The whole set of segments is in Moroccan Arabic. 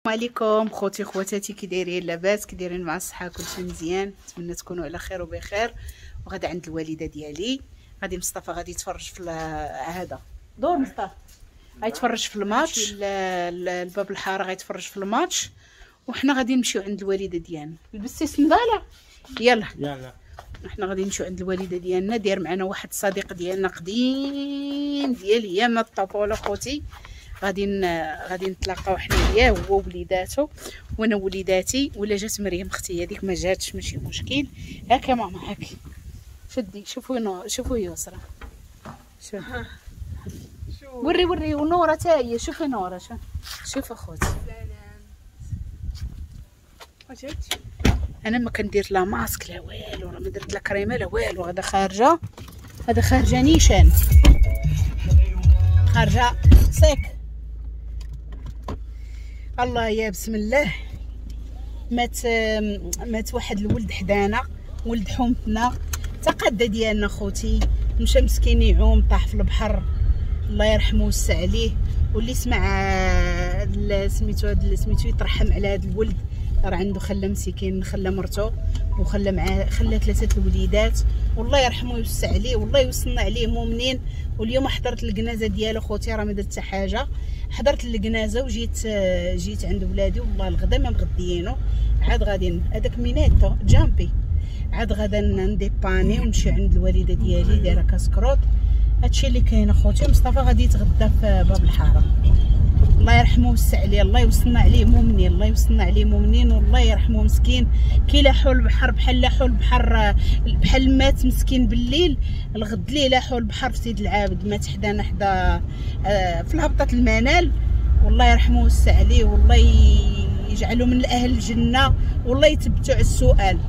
عليكم خوتي خواتاتي، كي دايرين؟ لاباس؟ كي دايرين مع الصحة؟ كلشي مزيان؟ نتمنى تكونوا على خير وبخير. وغدا عند الوالدة ديالي، غادي مصطفى غادي يتفرج في هذا دور مصطفى غيتفرج في الماتش، الباب الحارة غيتفرج في الماتش، وحنا غادي نمشيو عند الوالدة ديالنا. لبستي صنداله؟ يلا يلا حنا غادي نمشيو عند الوالدة ديالنا. داير معنا واحد الصديق ديالنا قديم ديال ايام الطفولة خوتي، غادي نتلاقاو حنا وياه، هو وليداتو وانا وليداتي. ولا جات مريم اختي هذيك ما جاتش ماشي مشكل. هاك يا ماما هاك، شدي شوفوا شوفوا يسرا، شوف وري وري ونوره حتى هي، شوفي نوره، شوف شوف اخوتي. انا ما كندير لا ماسك لا والو، راه ما درت لا كريمة لا والو، غادا خارجه، هذا خارجه نيشان، خارجه sec. الله يا بسم الله. مات واحد الولد حدانا، ولد حومتنا، تقدى ديالنا خوتي، مشى مسكين يعوم طاح في البحر، الله يرحمه ويوسع عليه. واللي سمع سميتو هاد سميتو يترحم على هاد الولد، راه عنده خلى مسكين، خلى مرتو وخلى معاه، خلى ثلاثة الوليدات، والله يرحمه ويوسع عليه والله يوصلنا عليه مؤمنين. واليوم حضرت الجنازة ديالو خوتي، راه ما درت حتى حاجة، حضرت الجنازة وجيت جيت عند ولادي، والله الغدا ما مغديينو. عاد غادي هذاك ميناتو جامبي، عاد غادا نديباني ونمشي عند الوالدة ديالي دايرة كاسكروط. هادشي اللي كاين اخوتي. مصطفى غادي يتغدى في باب الحارة، الله يرحمه ويوسع عليه، الله يوصلنا عليه مؤمنين، الله يوصلنا عليه مؤمنين، والله يرحمه مسكين. كي لاحوا البحر بحال لاحوا البحر، بحال مات مسكين بالليل، الغد ليه لاحوا البحر في سيد العابد، مات حدانا حدا في الهبطه المنال. والله يرحمه ويوسع عليه، والله يجعله من اهل الجنة، والله يثبتو على السؤال.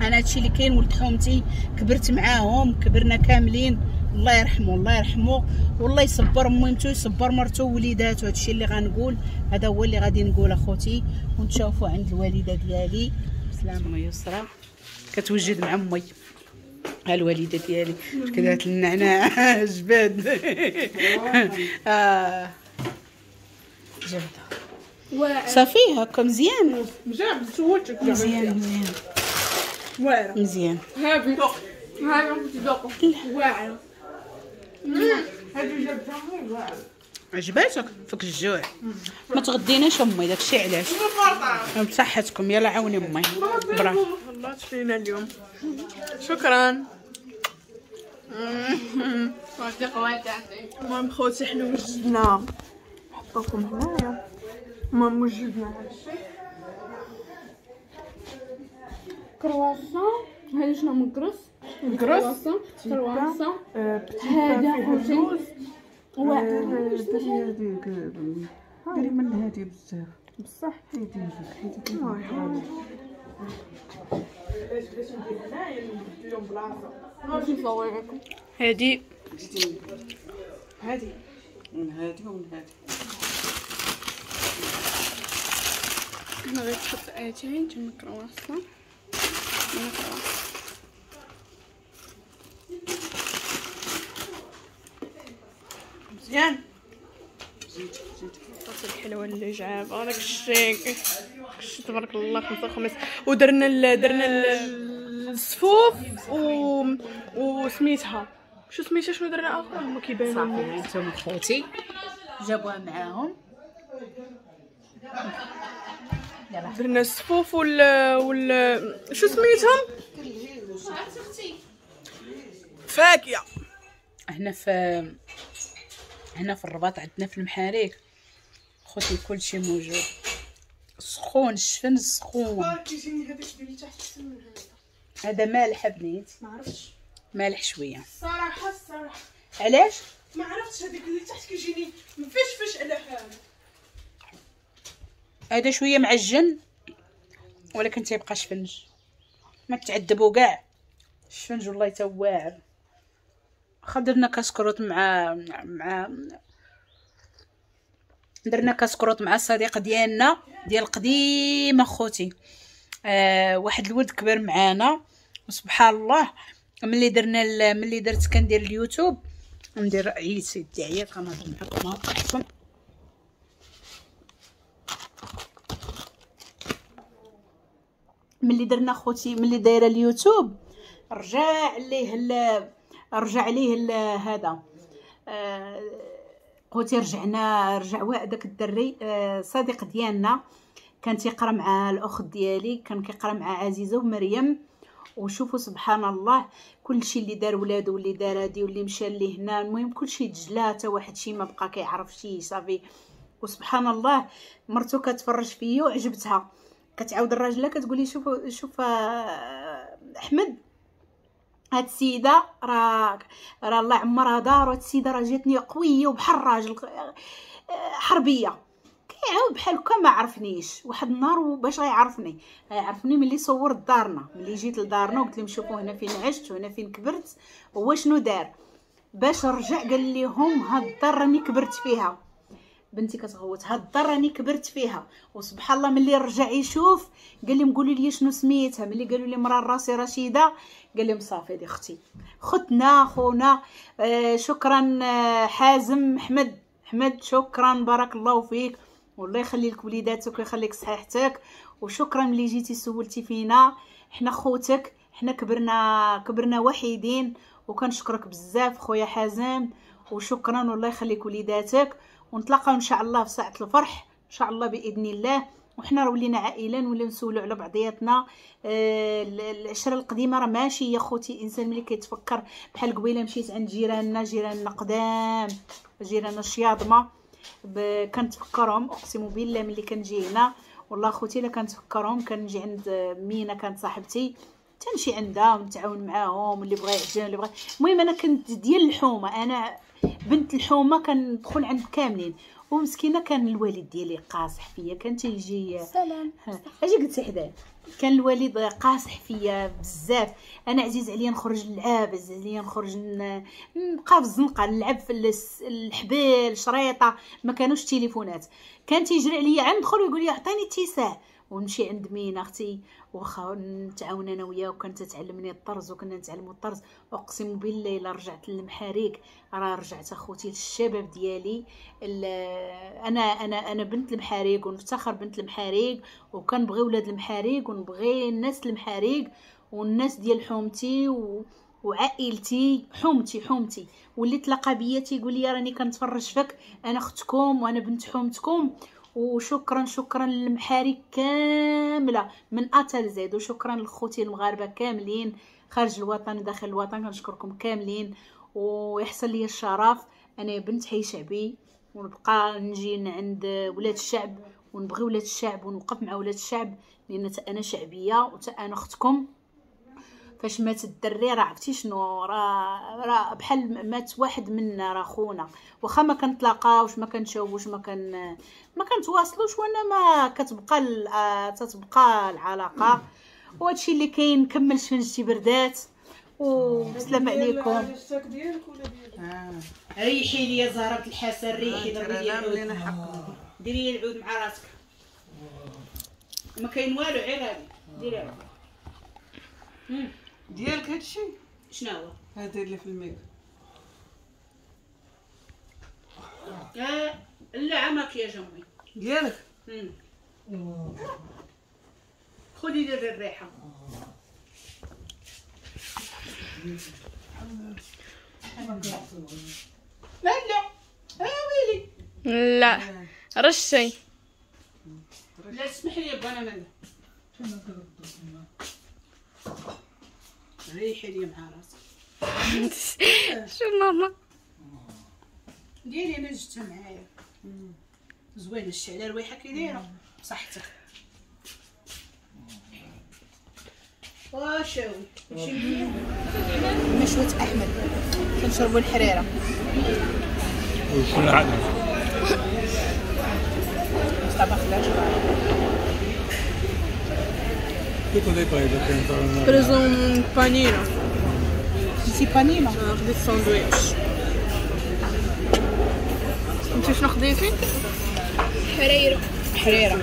انا هادشي اللي كاين، ولد حومتي كبرت معاهم، كبرنا كاملين، الله يرحمه الله يرحمه، والله يصبر ميمتو يصبر مرتو ووليداتو. هادشي اللي غنقول، هذا هو اللي غادي نقول اخوتي. ونتشوفوا عند الوالدة ديالي. بسلامه. يسرا كتوجد مع امي، ها الوالدة ديالي كدارت النعناع جبد جبده صافي هكا مزيان، مزيان مزيان واعرة مزيان. هابي هابي واعرة، هادي جابتها واعرة. عجباتك؟ فك الجوع ما تغديناش امي، داكشي علاش. بصحتكم، يلا عاوني امي. برافو الله تفينا اليوم، شكرا. المهم خوتي حنا وجدنا، نحطوكم هنايا. المهم وجدنا هادشي، كرواسون، هادي شنو مكرس مكرس كرواسون، هذا خوتي دري هذيك، دري من هادي بزاف بصح، حيدي هذيك حيدي. علاش بغيت ندير هنايا نبدل لهم بلاصة، ماشي نصور لكم هادي هادي من هادي ومن هادي. هنا غير تحط اتاي تما كرواسون، تما كرواسون مزيان. زيد زيد حطيت الحلوة اللي جاب هذاك الشيء، داكشي تبارك الله 5 5. ودرنا درنا الصفوف وسميتها شو سميتها، شنو درنا اخر هما كيبانوا صافي. هانتوما خوتي جابوها معاهم، درنا الصفوف وال شو سميتهم، فاكهة. هنا في الرباط عندنا في المحاريك خوتي كلشي موجود، سخون الشفن سخون. كيجيني هذاك اللي تحت احسن من هذا، هذا مالح بنيت، ما عرفتش مالح شوية الصراحة الصراحة. علاش ما عرفتش؟ هذاك اللي تحت كيجيني مفشفش على حاله، هذا شوية معجن ولكن تيبقى شفنج، ما تعذبوا كاع الشفنج والله تا واعر. واخا درنا كاسكروط مع درنا كاسكروط مع الصديق ديالنا ديال قديم اخوتي، واحد الولد كبر معانا، وسبحان الله ملي درت كندير اليوتيوب ندير عييت سيدي عييت غنهضر معكم احسن. ملي درنا خوتي، ملي دايرة اليوتيوب رجع ليه هذا خوتي، رجع داك الدري صديق ديالنا كان تيقرا مع الاخت ديالي، كان كيقرا مع عزيزه ومريم. وشوفوا سبحان الله كلشي اللي دار ولادو واللي دار هادي واللي مشى لي هنا، المهم كلشي تجلا، حتى واحد شي ما بقى كيعرف شي صافي. وسبحان الله مرتو كتفرج فيا وعجبتها، كتعاود الراجله كتقولي شوف احمد هاد السيدة راه الله عمرها دار، وهاد السيدة راه جاتني قوية وبحال الراجل حربيه. كيعاود بحال هكا ما عرفنيش واحد النهار، وباش غيعرفني ملي صورت دارنا، ملي جيت لدارنا وقلت لهم شوفوا هنا فين عشت وهنا فين كبرت. هو شنو دار باش رجع؟ قال لهم هاد الدار راني كبرت فيها، بنتي كتغوت، هاد الدار راني كبرت فيها. وسبحان الله ملي رجع يشوف قال لهم قولوا لي شنو سميتها، ملي قالوا لي مرا راسي رشيده قال لهم صافي هذه اختي، خوتنا خونا. شكرا حازم احمد شكرا، بارك الله فيك، والله يخلي لك وليداتك ويخليك صحيحتك، وشكرا ملي جيتي سولتي فينا، حنا خوتك، حنا كبرنا وحيدين، وكنشكرك بزاف خويا حازم، وشكرا والله يخليك وليداتك. ونتلاقاو ان شاء الله في ساعة الفرح ان شاء الله باذن الله. وحنا راه ولينا عائلة، نوليو نسولو على بعضياتنا. العشرة القديمة راه ماشي يا خوتي، انسان ملي كيتفكر بحال قبيلة مشيت عند جيراننا قدام، جيراننا الشياضمه، كنتفكرهم اقسم بالله ملي كنجي هنا والله خوتي الا كنتفكرهم. كنجي عند مينا كانت صاحبتي، تنمشي عندها ونتعاون معاهم، اللي بغى يعجن اللي بغى. المهم انا كنت ديال الحومه، انا بنت الحومه، كندخل عند كاملين. ومسكينه كان الوالد ديالي قاصح فيا، كان تيجي سلام اجي قلت حدايا، كان الوالد قاصح فيا بزاف. انا عزيز عليا نخرج نلعب، عزيز عليا نخرج نبقى في الزنقة نلعب في الحبال شريطه، ما كانوش تليفونات. كان تيجري عليا عند ندخل ويقول لي عطيني اتساع، ونمشي عند مينا اختي واخا نتعاون انا وياه، وكانت تعلمني الطرز وكنا نتعلموا الطرز. اقسم بالله الا رجعت للمحاريك راه رجعت اخوتي للشباب ديالي. انا انا انا بنت المحاريك ونفتخر بنت المحاريك، وكنبغي ولاد المحاريك ونبغي الناس المحاريك والناس ديال حومتي وعائلتي، حومتي. واللي تلاقى بيا تيقول لي راني كنتفرج فيك، انا اختكم وانا بنت حومتكم. وشكرا شكرا للمحاريك كاملة من A ل Z، وشكرا لخوتي المغاربة كاملين خارج الوطن وداخل الوطن، كنشكركم كاملين. ويحصل لي الشرف انا بنت حي شعبي، ونبقى نجي عند ولاد الشعب ونبغي ولاد الشعب ونوقف مع ولاد الشعب، لان انا شعبية وتا انا اختكم. فاش مات الدري راه عرفتي شنو، راه بحال مات واحد منا، راه خونا، واخا ما كنتلاقاوش ما كنشوفوش ما كنتواصلوش، وانا ما كتبقى تتبقى العلاقة. وهادشي اللي كاين. نكمل شفنجتي بردات، والسلام عليكم. ريحي لي زهره الحسن، ريحي ضربي لي العود، ديري لي العود مع راسك، ما كاين والو غير هادي ديري العود ديالك. هادشي شنو هو؟ هذا اللي في الميك. لا ماكياج امي ديالك. خذي لي الريحة. لا لا ويلي لا رشي. لا اسمح لي با انا ريحي لي مع راسك. شو ماما ديالي انا جبتها معايا زوينة الشعلة، الريحة كي دايرة بصحتك. وشاوي ماشي مزيان. مشوه احمد كنشربوا الحريره وكل عدد مصطفى خلاش. Preso un panino. Sì, panino. خديت ساندويتش. انت شنو خديتي؟ حريره. حريره.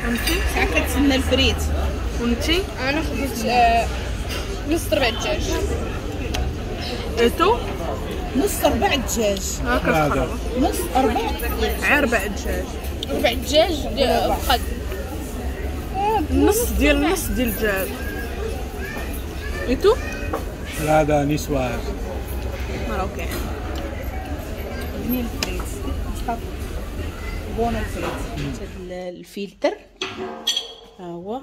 وانت؟ ساعة كتسنى الفريت. وانت؟ انا خديت نص ربع دجاج. تو؟ نص ربع دجاج. هكا نص ربع ربع دجاج. ربع دجاج فقط. نص ديال نص ديال الدجاج. et tout هذا niçoise marocaine. بنين الفريت مصطفى، bon الفريت. هاد الفلتر ها هو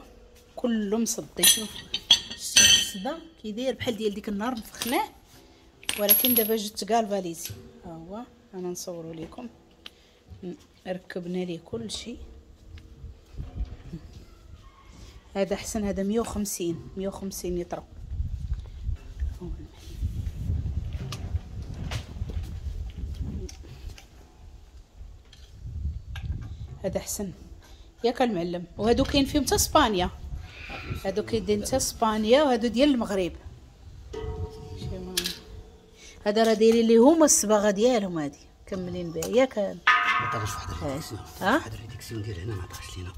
كله مصدي. شوف الصدى كيداير بحال ديال ديك النهار نفخناه، ولكن دابا جبت galvanisé. ها هو انا نصورو لكم، ركبنا ليه كلشي. هذا احسن، هذا 150 لتر. هذا احسن ياك المعلم. وهادو كاين فيهم حتى اسبانيا، هادو كاينين حتى اسبانيا، وهادو ديال المغرب. هذا راه دايرين ليهم الصباغه ديالهم، هادي كملين بها ياك. ما طاغش واحد ال réduction، واحد ال réduction ديال هنا ما طاغش لينا.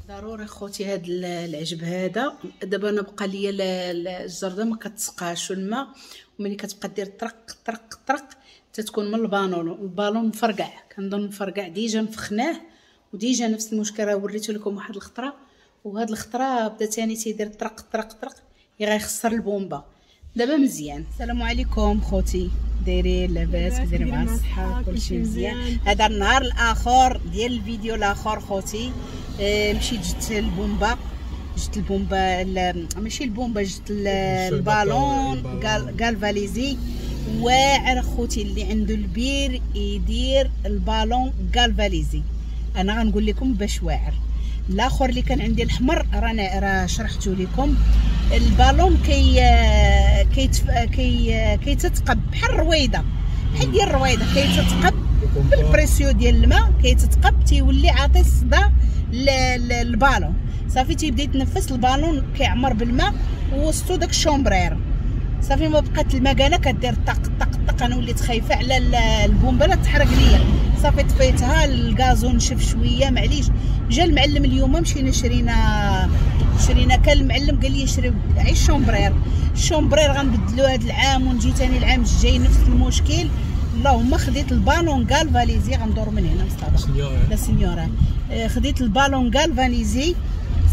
ضروري خوتي هاد العجب هذا. دابا انا بقى ليا الجرده ما كتسقاش الماء، وملي كتبقى دير طرق طرق طرق تتكون من ال ballon، ال ballon مفرقع، كنظن مفرقع déjà نفخناه، و déjà نفس المشكل راه وريته لكم واحد الخطرة، وهاد الخطرة بدا ثاني تيدير طرق طرق طرق، غيخسر البومبا. دابا مزيان. السلام عليكم خوتي، دايرين لاباس؟ دايرين مع الصحة، كلشي مزيان. هذا النهار الاخر ديال الفيديو الاخر خوتي. مشيت جبت البومبا، جبت البومبا ماشي البومبا، جبت ال ballon galvanisé. واعر خوتي، اللي عنده البير يدير ال ballon galvanisé. انا غنقول لكم باش واعر. الاخر اللي كان عندي الحمر رانا راه شرحته لكم. البالون كي كي كيتتقب بحال الرويده، بحال ديال الرويده، كيتتقب بال pression ديال الماء، كيتتقب تيولي عاطي الصدى للبالون. صافي تيبدا يتنفس البالون، كيعمر بالماء ووسطو داك ال chambre à air. صافي ما بقات المكانة كدير طق طق طق. انا وليت خايفة على البومبا لا تحرق ليا. صافي طفيتها، ال gazon نشف شوية معليش. جا المعلم اليوم، مشينا شرينا كان المعلم قال لي شري عي ال chambre à air. ال chambre à air غنبدلو هذا العام ونجي ثاني العام الجاي نفس المشكل. اللهم خديت ال ballon galvanisé، غندور من هنا مصطفى la señora. خديت ال ballon galvanisé.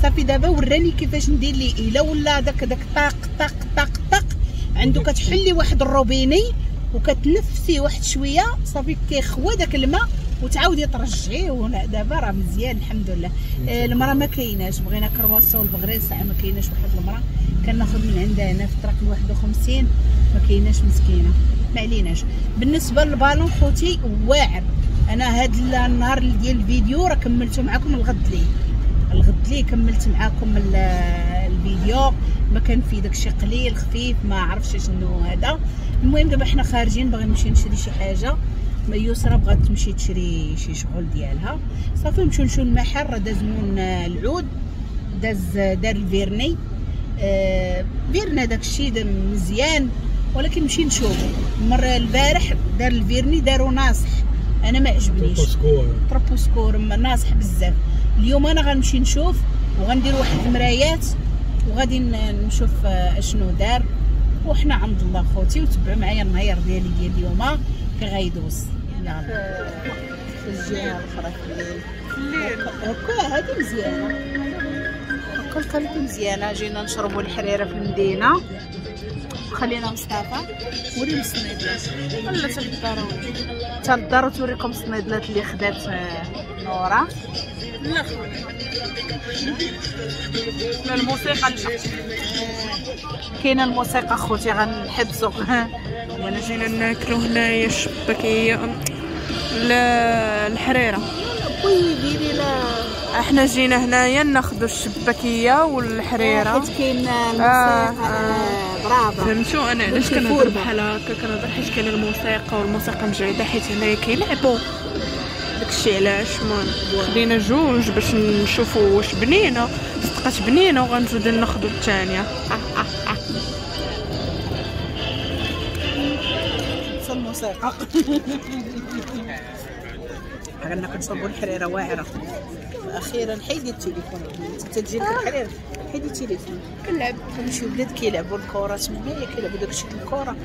صافي دابا وراني كيفاش ندير ليه. الا ولا داك طاق طاق طاق طاق عنده، كتحلي واحد الروبيني وكتنفسي واحد شوية، صافي كيخوى داك الماء وتعاودي ترجعيه. ودابا راه مزيان الحمد لله. المراة ما كايناش، بغينا كرواسون والبغرير ساعة ما كايناش. واحد المراة كناخذ من عندها هنا في الطريق 51 ما كايناش مسكينه، ما عليناش. بالنسبة للبالون خوتي واعر. انا هاد النهار ديال الفيديو راه كملته معكم الغد ليه، الغد ليه كملت معكم الفيديو. ما كان فيه داكشي قليل خفيف، ما عرفتش شنو هذا. المهم دابا حنا خارجين، باغي نمشي نشري شي حاجة. يسرا بغات تمشي تشري شي شغل ديالها. صافي نمشيو نشوفو المحل، راه داز من العود، داز دار ال vernis. فيرنا داكشي مزيان، ولكن نمشي نشوفو. المرة البارح دار ال vernis دارو ناصح، انا ما عجبنيش، trop scur ناصح بزاف. اليوم انا غنمشي نشوف وغندير واحد المرايات وغادي نشوف اشنو دار. وحنا عند الله خوتي، وتبعوا معايا النهار ديالي ديال اليوم كي غيدوز. يلا الجهة الاخرى في الليل هكا هادي مزيانه، هكا ال qualité مزيانه. جينا نشربوا الحريره في المدينة، خلينا مصطفى وريهم الصنيدلات. ولا حتى للدار، حتى للدار وتوريكم الصنيدلات اللي خدات نورا. لا لا الموسيقى لا كاينه الموسيقى خوتي غنحبسو. وانا جينا ناكلو هنايا الشباكيه الحريره. ديري لا احنا جينا هنايا ناخذوا الشباكيه والحريره حيت كاين الموسيقى. برافو فهمتوا انا علاش كنهضر بحال هكا؟ كنهضر حيت كاين الموسيقى والموسيقى مجهده، حيت هنايا كيلعبوا داكشي علاش. المهم خدينا جوج باش نشوفوا واش بنينه، صدقات بنينه وغنزيدو ناخذوا الثانية. الموسيقى غناكل نشربوا الحريره واعرة. اخيرا حيدي التليفون، انت تجي لك الحريره حيدي التليفون. كنلعب شي ولاد كيلعبوا الكره تمايا، كيلعبوا داكشي الكره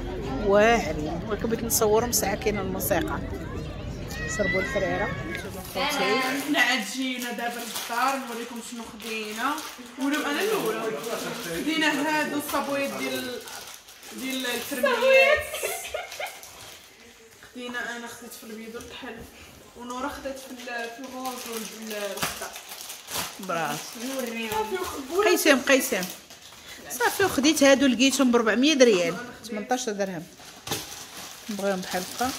واعرين، ولكن بغيت نصورهم ساعة كاينه الموسيقى. شربوا الحريره. خوتي. حنا عاد جينا دابا للدار نوريكم شنو خدينا. ولا انا الاولى خدينا هادو الصابويات ديال الفرميات. خدينا انا خديت في الابيض والكحل، ونورا خدات في ال rose والخضر. برافو. نوريهم قيسم قيسم صافي. وخديت هادو لقيتهم ب 400 ريال، 18 درهم. نبغيهم بحال هكا.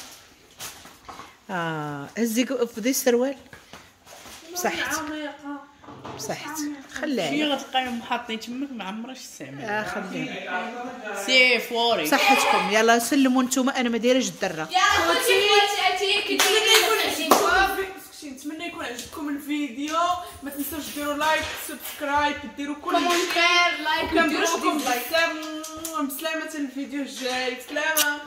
هزي فضي السروال. بصحتك بصحتك، خليها هي غتلقايهم حاطين تماك ما عمرش استعمل. خليها سي فوري. بصحتكم. يلا سلموا نتوما، انا ما دايرهش الدرة. نتمنى يكون عجبكم الفيديو. ما تنساوش ديروا like، subscribe، ديروا كل commentaire، like، كنبغيكم بزاف. بسلامه الفيديو الجاي. بسلامه.